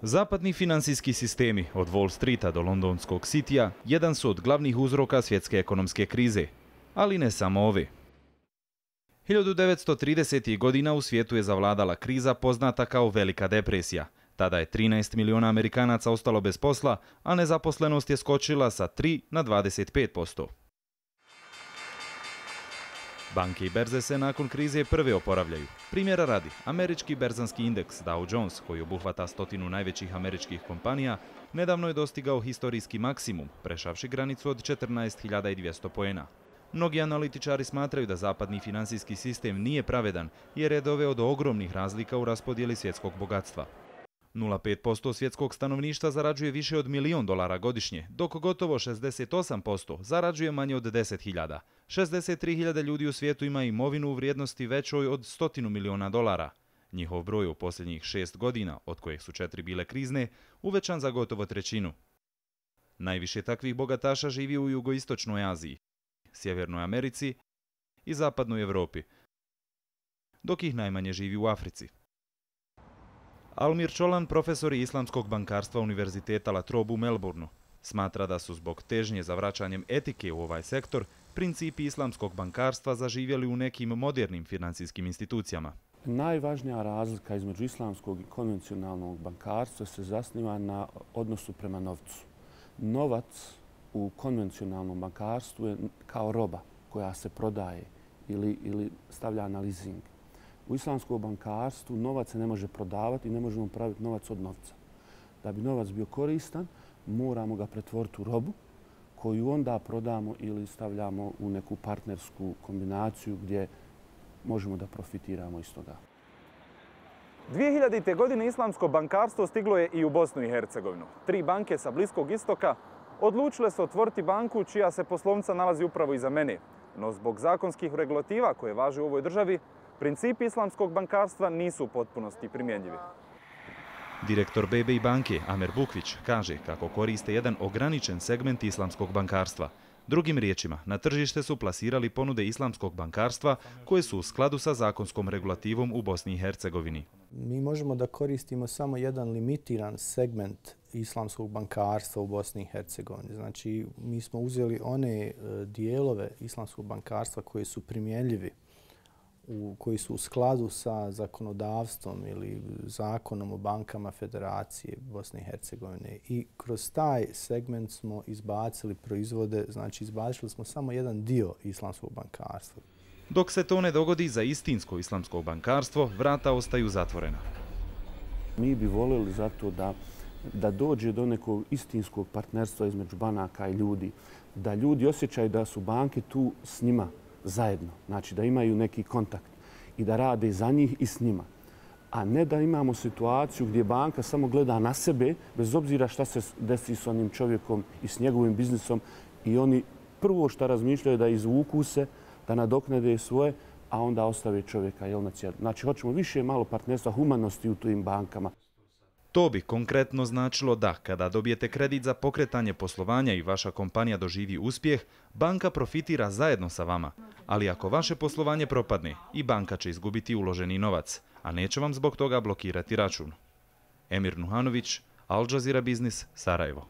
Zapadni financijski sistemi od Wall Streeta do londonskog Cityja jedan su od glavnih uzroka svjetske ekonomske krize, ali ne samo ove. 1930. godina u svijetu je zavladala kriza poznata kao Velika depresija. Tada je 13 miliona Amerikanaca ostalo bez posla, a nezaposlenost je skočila sa 3 na 25%. Banke i berze se nakon krize prve oporavljaju. Primjera radi, američki berzanski indeks Dow Jones, koji obuhvata 100 najvećih američkih kompanija, nedavno je dostigao historijski maksimum, prešavši granicu od 14.200 poena. Mnogi analitičari smatraju da zapadni finansijski sistem nije pravedan jer je doveo do ogromnih razlika u raspodjeli svjetskog bogatstva. 0,5% svjetskog stanovništva zarađuje više od $1 milion godišnje, dok gotovo 68% zarađuje manje od 10.000. 63.000 ljudi u svijetu ima imovinu u vrijednosti većoj od $100 miliona. Njihov broj u posljednjih 6 godina, od kojih su 4 bile krizne, uvećan za gotovo trećinu. Najviše takvih bogataša živi u jugoistočnoj Aziji, Sjevernoj Americi i Zapadnoj Europi, dok ih najmanje živi u Africi. Almir Čolan, profesor islamskog bankarstva Univerziteta La Trobe u Melbourneu, smatra da su zbog težnje za vraćanjem etike u ovaj sektor principi islamskog bankarstva zaživjeli u nekim modernim financijskim institucijama. Najvažnija razlika između islamskog i konvencionalnog bankarstva se zasniva na odnosu prema novcu. Novac u konvencionalnom bankarstvu je kao roba koja se prodaje ili stavlja na leasing. U islamskom bankarstvu novac se ne može prodavati i ne možemo praviti novac od novca. Da bi novac bio koristan, moramo ga pretvoriti u robu koju onda prodamo ili stavljamo u neku partnersku kombinaciju gdje možemo da profitiramo iz toga. 2000. godine islamsko bankarstvo stiglo je i u Bosnu i Hercegovinu. 3 banke sa Bliskog istoka odlučile su otvoriti banku čija se poslovnica nalazi upravo iza mene. No zbog zakonskih regulativa koje važe u ovoj državi, principi islamskog bankarstva nisu u potpunosti primjenjivi. Direktor BBI banke Amer Bukvić kaže kako koriste jedan ograničen segment islamskog bankarstva. Drugim riječima, na tržište su plasirali ponude islamskog bankarstva koje su u skladu sa zakonskom regulativom u Bosni i Hercegovini. Mi možemo da koristimo samo jedan limitiran segment islamskog bankarstva u Bosni i Hercegovini. Znači, mi smo uzeli one dijelove islamskog bankarstva koji su primjenljivi, koji su u skladu sa zakonodavstvom ili zakonom o bankama Federacije Bosne i Hercegovine. I kroz taj segment smo izbacili proizvode, znači izbacili smo samo jedan dio islamskog bankarstva. Dok se to ne dogodi za istinsko islamsko bankarstvo, vrata ostaju zatvorena. Mi bi voljeli zato da dođe do nekog istinskog partnerstva između banaka i ljudi, da ljudi osjećaju da su banke tu s njima zajedno, znači da imaju neki kontakt i da rade za njih i s njima. A ne da imamo situaciju gdje banka samo gleda na sebe, bez obzira šta se desi s onim čovjekom i s njegovim biznisom i oni prvo što razmišljaju da izvuku se, da nadoknade svoje, a onda ostave čovjeka na cijelu. Znači, hoćemo više malo partnerstva, humanosti u tim bankama. To bi konkretno značilo da, kada dobijete kredit za pokretanje poslovanja i vaša kompanija doživi uspjeh, banka profitira zajedno sa vama. Ali ako vaše poslovanje propadne, i banka će izgubiti uloženi novac, a neće vam zbog toga blokirati račun. Emir Nuhanović, Al Jazeera Biznis, Sarajevo.